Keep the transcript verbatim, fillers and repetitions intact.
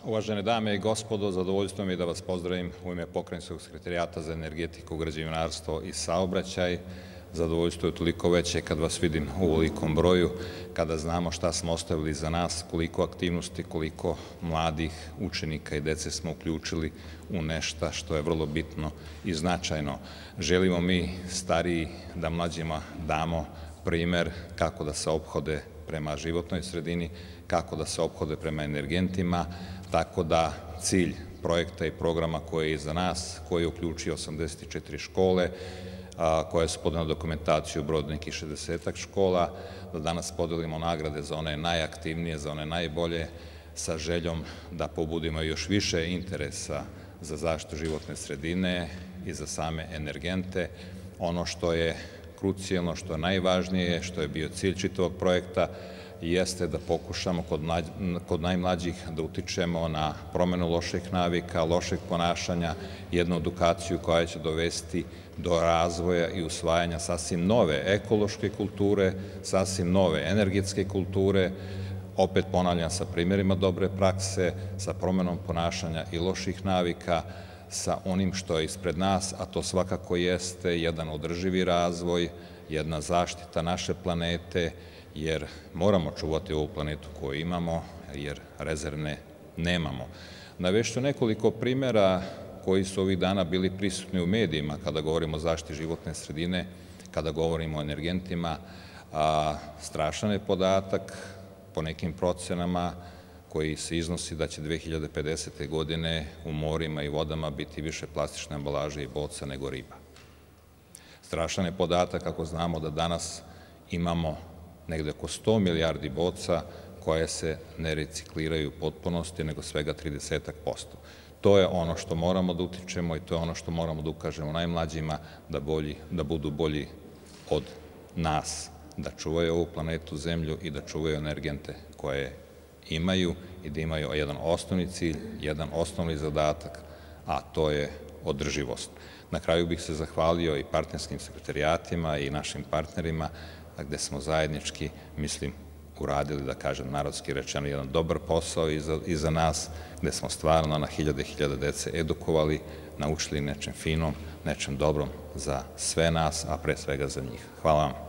Uvažene dame i gospodo, zadovoljstvo mi je da vas pozdravim u ime Pokrajinskog sekretarijata za energetiku, građevinarstvo i saobraćaj. Zadovoljstvo je toliko veće kad vas vidim u ovolikom broju, kada znamo šta smo ostavili za nas, koliko aktivnosti, koliko mladih učenika i dece smo uključili u nešto što je vrlo bitno i značajno. Želimo mi, stariji, da mlađima damo primer kako da se ophode prema životnoj sredini, kako da se ophode prema energentima, tako da cilj projekta i programa koji je iza nas, koji je uključio osamdeset četiri škole, koje su podane dokumentaciju broj nekih šezdesetak škola, da danas podelimo nagrade za one najaktivnije, za one najbolje, sa željom da pobudimo još više interesa za zaštitu životne sredine i za same energente. Ono što je krucijalno, što je najvažnije, što je bio cilj čitavog projekta, jeste da pokušamo kod najmlađih da utičemo na promenu loših navika, lošeg ponašanja, jednu edukaciju koja će dovesti do razvoja i usvajanja sasvim nove ekološke kulture, sasvim nove energetske kulture, opet ponavljam sa primjerima dobre prakse, sa promenom ponašanja i loših navika, sa onim što je ispred nas, a to svakako jeste jedan održivi razvoj, jedna zaštita naše planete, jer moramo čuvati ovu planetu koju imamo, jer rezervne nemamo. Navešću nekoliko primjera koji su ovih dana bili prisutni u medijima kada govorimo o zaštiti životne sredine, kada govorimo o energentima. Strašan je podatak po nekim procenama koji se iznosi da će dve hiljade pedesete. godine u morima i vodama biti više plastične ambalaže i boca nego riba. Strašan je podatak ako znamo da danas imamo negde oko sto milijardi boca koje se ne recikliraju u potpunosti, nego svega trideset posto. To je ono što moramo da utičemo i to je ono što moramo da ukažemo najmlađima da budu bolji od nas, da čuvaju ovu planetu Zemlju i da čuvaju energente koje imaju i da imaju jedan osnovni cilj, jedan osnovni zadatak, a to je održivost. Na kraju bih se zahvalio i partnerskim sekretarijatima i našim partnerima, gde smo zajednički, mislim, uradili, da kažem narodski rečeno, jedan dobar posao iza nas, gde smo stvarno na hiljade i hiljade dece edukovali, naučili nečem finom, nečem dobrom za sve nas, a pre svega za njih. Hvala vam.